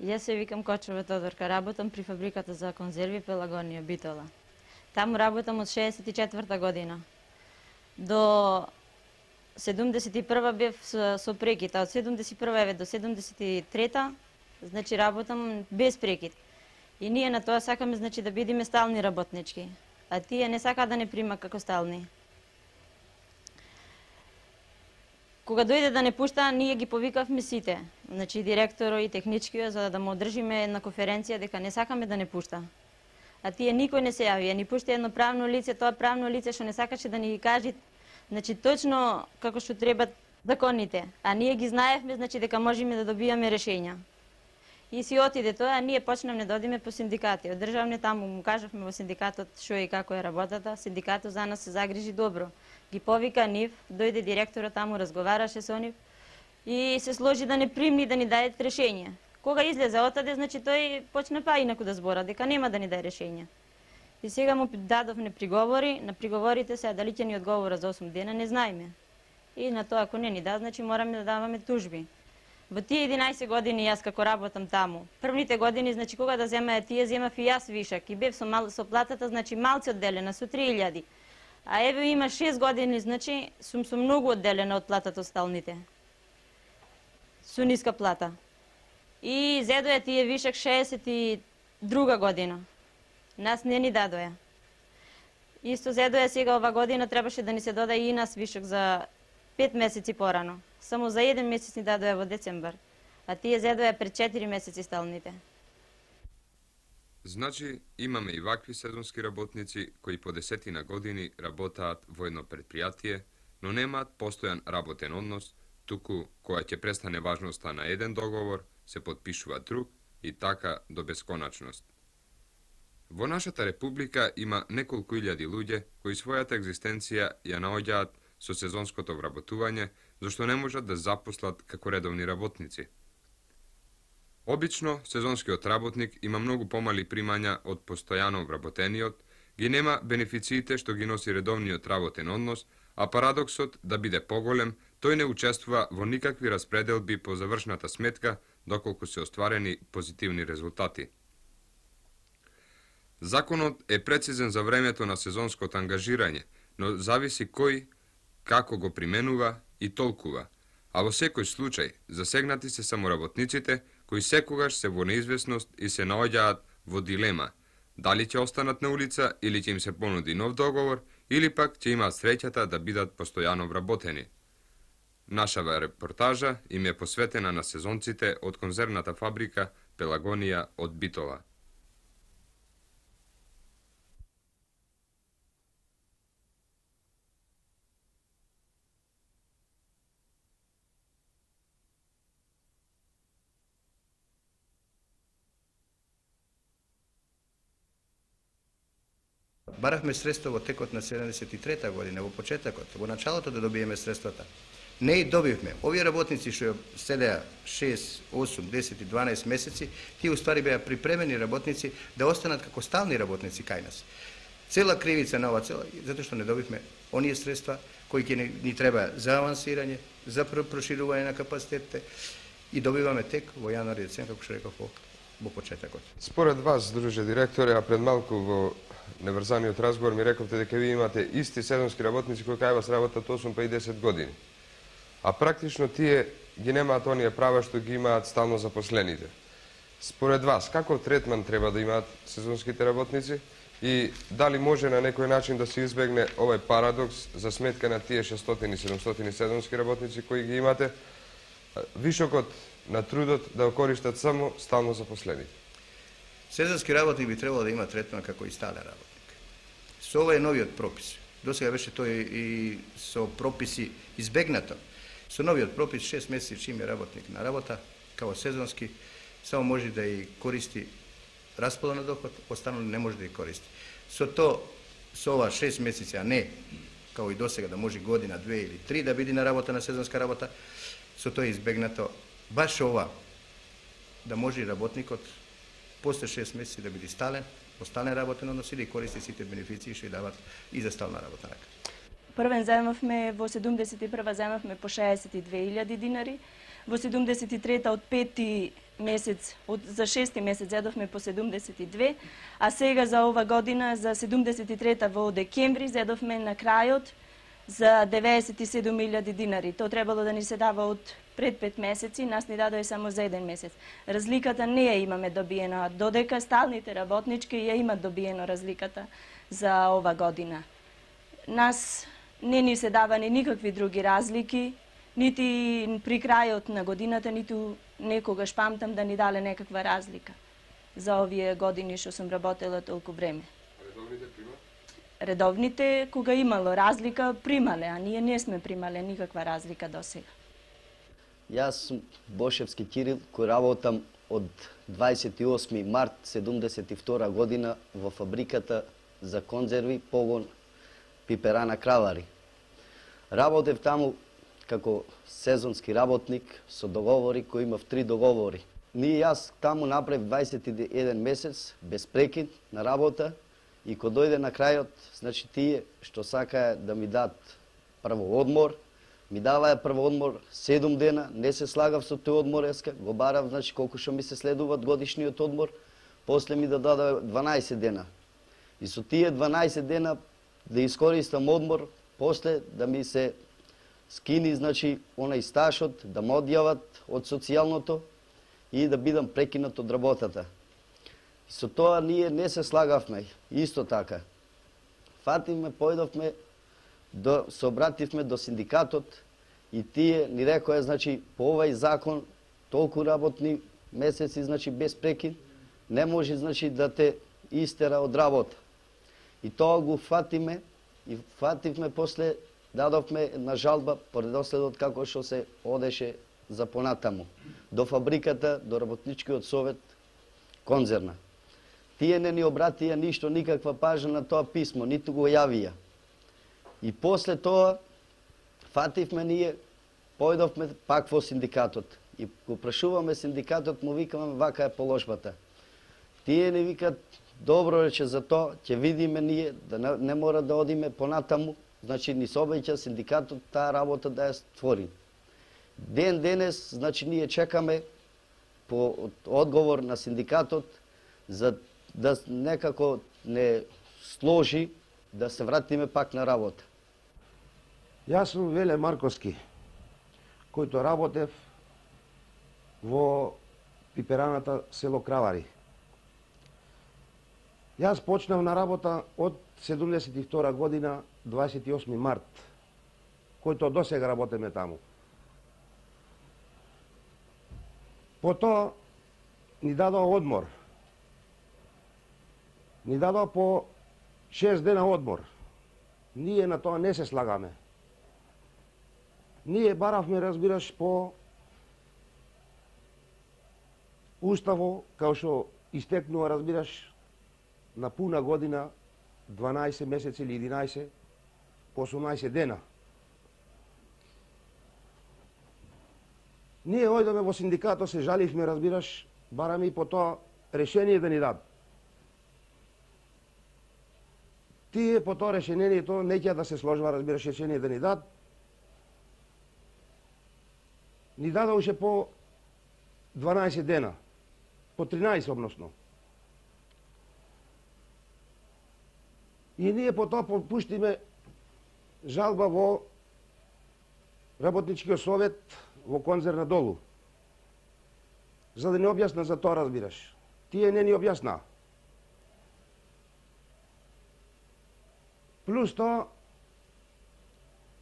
Јас се викам Кочева Тодорка, работам при фабриката за конзерви Пелагонија, Битола. Таму работам од 64 година. До 71 бев со прекид, а од 71 до 73 значи работам без прекид. И ние на тоа сакаме значи да бидеме стални работнички, а тие не сакаат да не прима како стални. Кога дојде да не пушта, ние ги повикавме сите, значи директорот и техничкиот, за да му одржиме една конференција дека не сакаме да не пушта. А тие никој не се јави, ни пушта едно правно лице, тоа правно лице што не сакаше да ни ги кажи, значи точно како што требат законите, а ние ги знаевме, значи дека можеме да добијаме решења. И си отиде тоа, а ние почнавме да одиме по синдикати. Одржавме таму, му кажавме во синдикатот што и како е работата, синдикатот за нас се загрижи добро. Ги повика нив, дојде директорот таму, разговараше со нив и се сложи да не примни да ни даде решење. Кога излезе отаде, значи тој почна па инаку да збора, дека нема да ни даде решење. И сега му дадовме приговори, на приговорите се дали ќе ни одговора за 8 дена, не знаеме. И на тоа ако не ни да, значи мораме да даваме тужби. Во тие 11 години јас како работам таму, првните години, значи кога да земаа тие, земав и јас вишак и бев со платата, значи малце одделена, со 3000. А еве има 6 години, значи сум со многу одделена од платата од сталните. Со ниска плата. И зедоја тие вишак 62 година. Нас не ни дадоја. Исто зедоја сега ова година требаше да ни се додаде и нас вишак за 5 месеци порано. Само за 1 месец ни дадоја во децембар, а тие зедоја пред 4 месеци сталните. Значи, имаме и вакви сезонски работници кои по десетина години работаат во едно предпријатие, но немаат постојан работен однос, туку кога ќе престане важноста на еден договор, се потпишува друг и така до бесконачност. Во нашата република има неколку илјади луѓе кои својата екзистенција ја наоѓаат со сезонското вработување, зашто не можат да запослат како редовни работници. Обично, сезонскиот работник има многу помали примања од постојано вработениот, ги нема бенефициите што ги носи редовниот работен однос, а парадоксот да биде поголем, тој не учествува во никакви распределби по завршната сметка, доколку се остварени позитивни резултати. Законот е прецизен за времето на сезонското ангажирање, но зависи кој, како го применува и толкува, а во секој случај засегнати се самоработниците кои секогаш се во неизвестност и се наоѓаат во дилема, дали ќе останат на улица или ќе им се понуди нов договор, или пак ќе имаат среќата да бидат постојано вработени. Нашава репортажа им е посветена на сезонците од конзервната фабрика Пелагонија од Битола. Баравме средства во текот на 73 година, во почетокот, во началото да добиеме средствата. Не и добивме. Овие работници што седеа 6, 8, 10 и 12 месеци, тие уствари беа припремени работници да останат како стални работници кај нас. Цела кривица на ова цела, затоа што не добивме оние средства кои ќе ни треба за авансирање, за проширување на капацитетите и добиваме тек во јануари, децември, како што реков, во почетокот. Според вас, друже директоре, а пред малку во неврзаниот разговор ми рековте дека вие имате исти сезонски работници кои кај вас работат 8 па и 10 години. А практично тие ги немаат оние права што ги имаат стално запослените. Според вас, каков третман треба да имаат сезонските работници и дали може на некој начин да се избегне овој парадокс за сметка на тие 600-700 сезонски работници кои ги имате, вишокот на трудот да го користат само стално запослените? Сезонски работник би требало да има третман како и стален работник. Со ова е новиот пропис. Досега беше тој и со прописи избегнато. Со новиот пропис 6 месеци чим е работник на работа, како сезонски, само може да и користи распола на доход, останало не може да и користи. Со ова 6 месеци, а не како и досега да може година, 2 или 3 да биде на работа, на сезонска работа, со тоа е избегнато баш ова, да може работникот после 6 месеци да биде стален, остален работен однос и да користи сите бенефиции што ја дават и за стална работа. Првен земавме во 71 земавме по 62.000 динари, во 73 од 5 месец, за 6 месец зедовме по 72, а сега за ова година, за 73-та во декември, зедовме на крајот за 97.000 динари. Тоа требало да ни се дава од пред 5 месеци, нас ни дадоа само за 1 месец. Разликата не ја имаме добиена, додека сталните работнички ја имат добиено разликата за ова година. Нас не ни се давани никакви други разлики, нити при крајот на годината, ниту некогаш памтам да ни дале некаква разлика за овие години што сум работела толку време. Редовните примат? Редовните, кога имало разлика, примале, а ние не сме примале никаква разлика досега. Јас сум Бошевски Кирил, кој работам од 28. март 72 година во фабриката за конзерви, погон Пиперана Кравари. Работев таму како сезонски работник со договори, кои имав 3 договори. Јас таму направив 21 месец без прекид на работа и кога дојде на крајот, значи тие што сакаа да ми дадат прво одмор, ми даваја прво одмор 7 дена, не се слагав со тој одмор еска, го барав, значи колку што ми се следуваат годишниот одмор, после ми да дадат 12 дена. И со тие 12 дена да искористам одмор, после да ми се скини, значи, онај стажот, да ме одјават од социјалното и да бидам прекинат од работата. И со тоа ние не се слагавме, исто така. Фативме, појдовме, се обративме до синдикатот и тие ни рекоа, значи, по овај закон, толку работни месеци, значи, без прекин, не може, значи, да те истера од работа. И тоа го фатиме и фативме после, дадовме на жалба по редоследот како што се одеше за понатаму. До фабриката, до работничкиот совет, конзерна. Тие не ни обратија ништо, никаква пажа на тоа писмо, ниту го јавија. И после тоа, фативме ние, појдовме пак во синдикатот. И го прашуваме синдикатот, му викаме, вака е положбата. Тие ни викат, добро рече за тоа, ќе видиме ние, да не мора да одиме понатаму, значи ни се обеќа синдикатот таа работа да ја створи. Ден денес, значи ние чекаме по одговор на синдикатот за да некако не сложи да се вратиме пак на работа. Јас сум Веле Марковски, којто работев во пипераната село Кравари. Јас почнав на работа од 72 година, 28 март, којто досега работеме таму. Потоа ни дадоа одмор. Ни дадоа по 6 дена одмор. Ние на тоа не се слагаме. Ние баравме, разбираш, по уставо, као што истекнува, разбираш, на пуна година, 12 месеци или 11, по 18 дена. Ние ојдоме во синдикатот, се жаливме, разбираш, бараме и по тоа решение да ни дадат. Тие по тоа решението не ќе да се сложува, разбираш, решение да ни дадат. Ни дадоа уште по 12 дена, по 13 обносно. И ние по тоа пуштиме жалба во Работничкиот совет во Конзерна долу. За да не објасна за тоа, разбираш. Тие не ни објасна. Плюс тоа,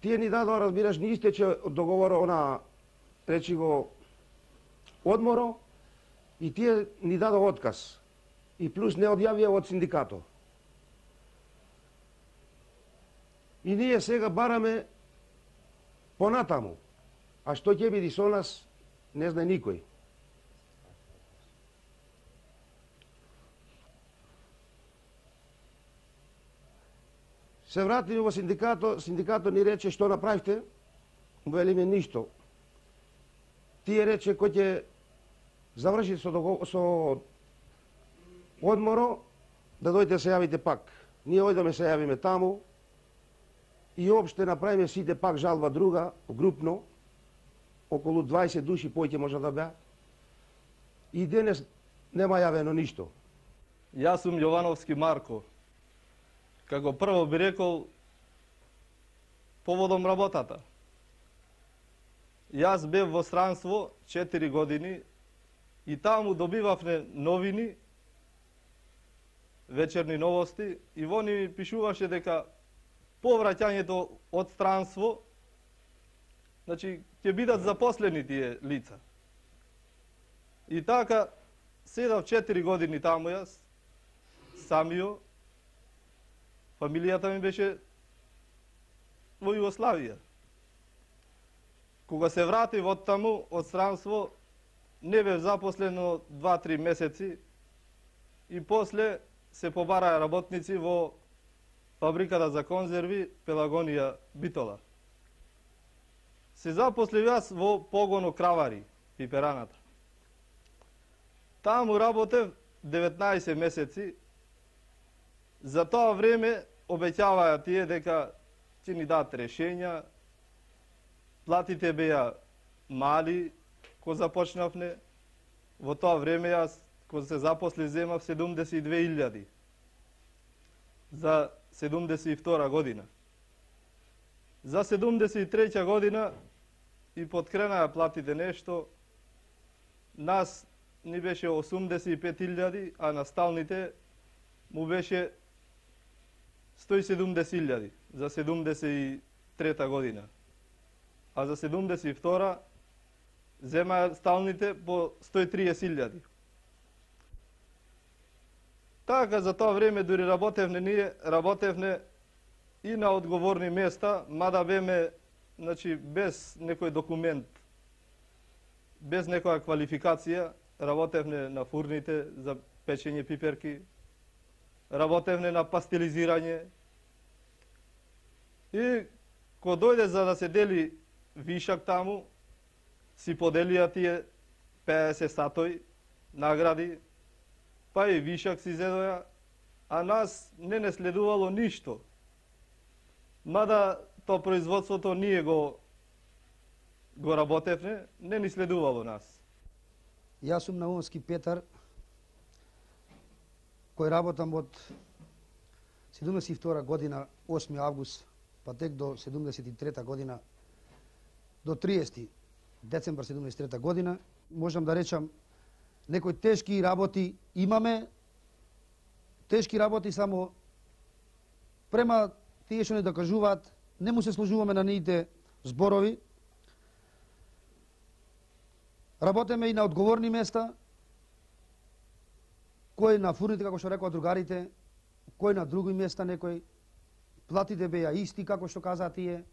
тие ни дадоа, разбираш, ни истече од договора она, речи го, одморо, и тие ни дадоа отказ. И плюс не одјавија од синдикато. И ние сега бараме понатаму. А што ќе биде со нас, не знае никој. Се вратиме во синдикато ни рече што направивте, велиме ништо. Тие рече кој ќе заврши со одморо, да дојдете се јавите пак. Ние ојдеме се јавиме таму и обште направиме сите пак жалба друга, групно, околу 20 души поќе може да беа. и денес нема јавено ништо. Јас сум Јовановски Марко. Како прво би рекол, поводом работата. Јас бев во странство 4 години и таму добивавме новини, вечерни новости, и во ни пишуваше дека повраќањето од странство, значи, ќе бидат запослени тие лица. И така, седав 4 години таму јас, самио, фамилијата ми беше во Југославија. Кога се вратив од таму, од странство, не бев запослено 2-3 месеци и после се побараа работници во фабриката за конзерви Пелагонија Битола. Се запослив јас во погоно Кравари, пипераната. Таму работев 19 месеци. За тоа време обеќаваа тие дека ќе ни дадат решења, платите беа мали, кога започнавме. Во тоа време јас, кога се запослив, земав 72.000 за 72 година. За 73 година и подкренаа платите нешто, нас ни беше 85.000, а на сталните му беше 170.000 за 73 година. А за 72 земаа сталните по 130.000. Така за тоа време дури работевне и на одговорни места, мада беме, значи, без некој документ, без некоја квалификација, работевне на фурните за печење пиперки, работевне на пастелизирање. И кога дојде за да се дели вишак таму, си поделија тие 50 сатој награди, па и вишак си зедоја, а нас не следувало ништо. Мада тоа производството ние го работевне, не ни следувало нас. Јас сум Наумовски Петар, кој работам од 72 година, 8 август, па тек до 73 година, до 30 децембар 73 година. Можам да речам, некои тешки работи имаме, тешки работи само према тие што не докажуваат, не му се служуваме на ниите зборови. Работеме и на одговорни места, кој на фурните, како што рекоа другарите, кој на други места некој. Платите беа исти, како што казаа тие.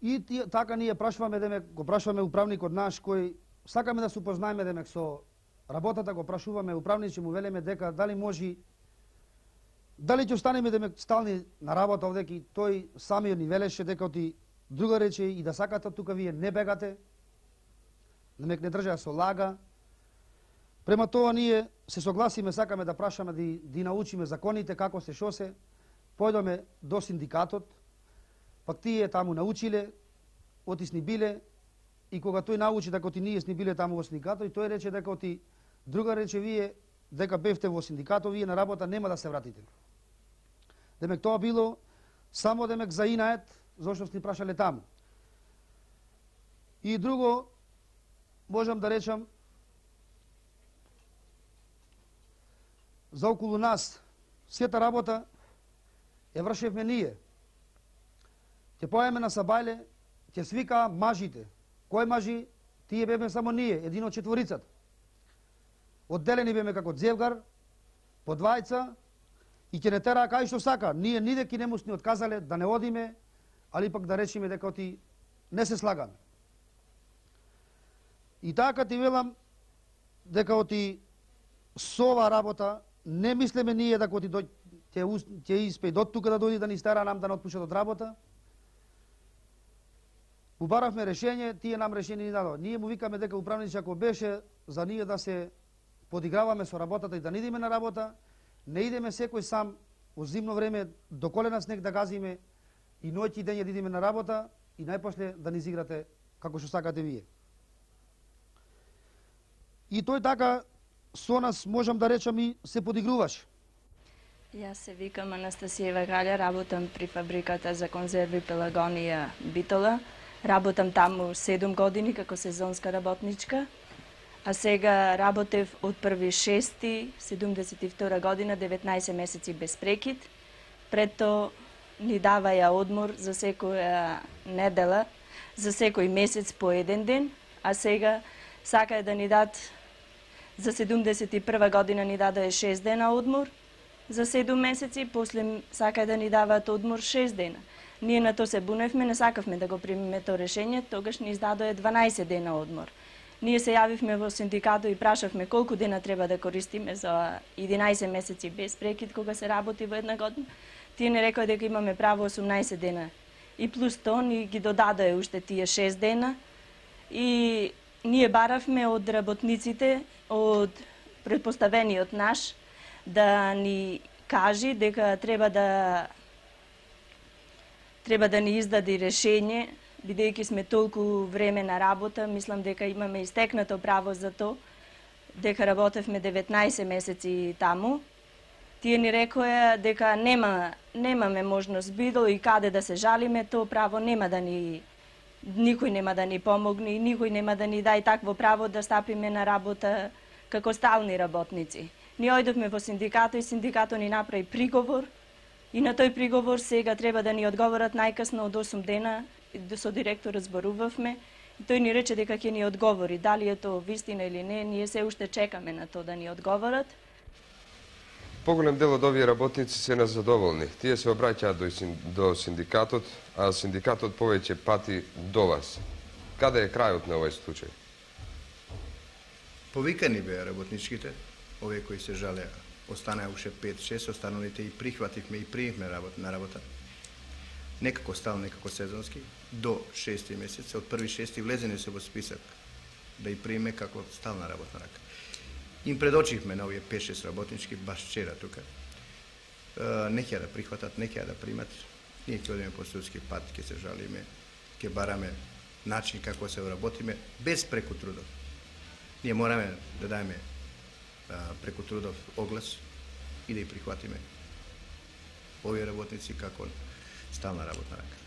И така ние прашуваме, го прашуваме управникот наш, кој сакаме да се упознаеме демек со работата, го прашуваме управници, му велеме дека дали може, дали ќе останеме демек стални на работа овдеки. Тој самиот ни велеше дека оти друга рече и да сакате тука вие не бегате, демек не држаа со лага. Према тоа ние се согласиме, сакаме да прашаме да научиме законите, како се, шо се. Појдоме до синдикатот, пак тие таму научиле, оти сни биле, и кога тој научи дека оти ние сни биле таму во синдикатот, и тој рече дека оти друга рече вие дека бевте во синдикатот, вие на работа нема да се вратите. Демек тоа било само демек за инает, зашто сни прашале таму. И друго, можам да речам, за околу нас, сета работа ја вршевме ние. Ќе поеме на Сабајле, ќе свика мажите. Кој мажи? Тие беме само ние, един од четворицата. Одделени беме како дзевгар, по двајца, и ќе не тераа кај што сака. Ние нидеки не му сни отказале да не одиме, али пак да речиме дека оти не се слагаме. И така ти велам дека оти со ова работа не мислиме ние дека оти ќе испе до тука да дојде да ни стара нам да не отпушат од работа. Убаравме решење, тие нам решение ни дадоа. Ние му викаме дека управници ако беше за ние да се подиграваме со работата и да не идеме на работа, не идеме секој сам во зимно време до колена снег да газиме и ноќ и дење да идеме на работа и најпосле да ни изиграте како што сакате вие. и тој така со нас, можам да речам, и се подигруваш. Јас се викам Анастасиева Гаља, работам при фабриката за конзерви Пелагонија Битола. Работам таму 7 години како сезонска работничка, а сега работев од 1.6.72 година 19 месеци без прекид. Пред тоа ни даваја одмор за секоја недела, за секој месец по еден ден, а сега сакаја да ни дат за 71 година ни даде 6 дена одмор, за 7 месеци, после сакаја да ни даваат одмор 6 дена. Ние на тоа се буневме, не сакавме да го примеме тоа решение, тогаш ни издадоа 12 дена одмор. Ние се јавивме во синдикатот и прашавме колку дена треба да користиме за 11 месеци без прекид кога се работи во една година. Тие не рекоа дека имаме право 18 дена. И плюс тоа ни ги додадоа уште тие 6 дена. И ние баравме од работниците, од претпоставениот наш, да ни кажи дека треба да ни издаде решение, бидејќи сме толку време на работа, мислам дека имаме истекнато право за тоа, дека работевме 19 месеци таму. Тие ни рекоа дека немаме можност бидо и каде да се жалиме, тоа право нема да ни никој нема да ни помогне и никој нема да ни даде такво право да стапиме на работа како стални работници. Ние ојдовме во синдикатот и синдикатот ни направи приговор и на тој приговор сега треба да ни одговорат најкасно од 8 дена. Со директорот зборувавме и тој ни рече дека ќе ни одговори. Дали е тоа вистина или не, ние се уште чекаме на тоа да ни одговорат. Поголем дел од овие работници се незадоволни. Тие се обраќаат до синдикатот, а синдикатот повеќе пати до вас. Каде е крајот на овој случај? Повикани беа работничките, овие кои се жалеа. Останаа уште 5-6, останалите и прихвативме и приимме на работа. Некако стал, некако сезонски, до 6 месец, од 1.6 влезене се во список да и приме како стална работна рака. Им предочихме на овие 5-6 работнички баш вчера тука. Не ќе да прихватат, не ќе да примат. Ние ќе одиме по судски пат, ќе се жалиме, ќе бараме начин како се работиме без преку трудов. Ние мораме да даеме преку трудов оглас и да и прихватиме овие работници како стална работна рака.